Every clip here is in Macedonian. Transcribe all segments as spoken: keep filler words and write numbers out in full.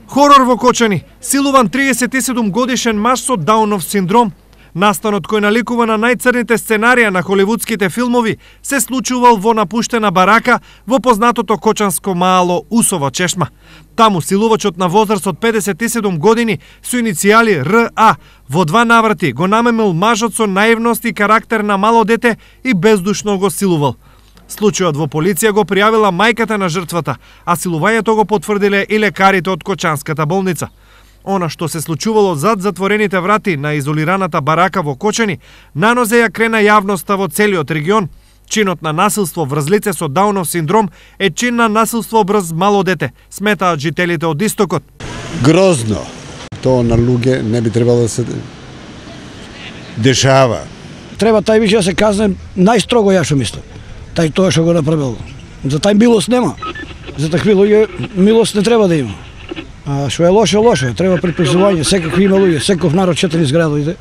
Хорор во Кочани. Силуван триесет и седум годишен маж со Даунов синдром. Настанот кој наликува на најцрните сценарија на холивудските филмови се случувал во напуштена барака во познатото кочанско мало Усова чешма. Таму силувачот на возраст од педесет и седум години со иницијали Р А во два наврати го намемил мажот со наивност и карактер на мало дете и бездушно го силувал. Случајот во полиција го пријавила мајката на жртвата, а силувањето го потврдиле и лекарите од Кочанската болница. Она што се случувало зад затворените врати на изолираната барака во Кочани, нанозе ја крена јавноста во целиот регион. Чинот на насилство врз лице со Даунов синдром е чин на насилство врз мало дете, сметаат жителите од Истокот. Грозно. Тоа на луѓе не би требало да се дешава. Треба тај више да се казне најстрого, ја што мислам. Тај тоа што го направил. За тај милост нема. За такви луѓе милост не треба да има. А што е лошо, лошо е. Треба припознавање. Секакви има луѓе, секој народ четени зградоите.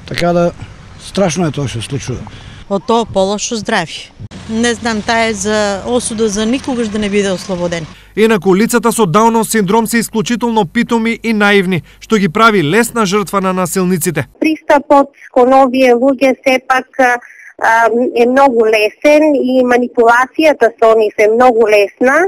Така да страшно е тоа што се случува. Од тоа полошо здравје. Не знам, таа е за осуда за никогаш да не биде ослободен. Инаку лицата со Даунов синдром се исклучително питоми и наивни, што ги прави лесна жртва на насилниците. Пристапот кон овие луѓе сепак е многу лесен и манипулацијата со нив е многу лесна.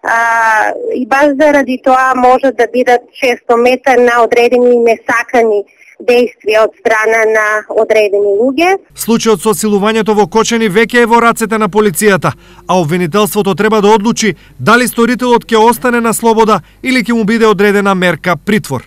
А, и баш заради тоа може да бидат често мета на одредени несакани действија од страна на одредени луѓе. Случајот со силувањето во Кочани веќе е во рацете на полицијата, а обвинителството треба да одлучи дали сторителот ќе остане на слобода или ќе му биде одредена мерка притвор.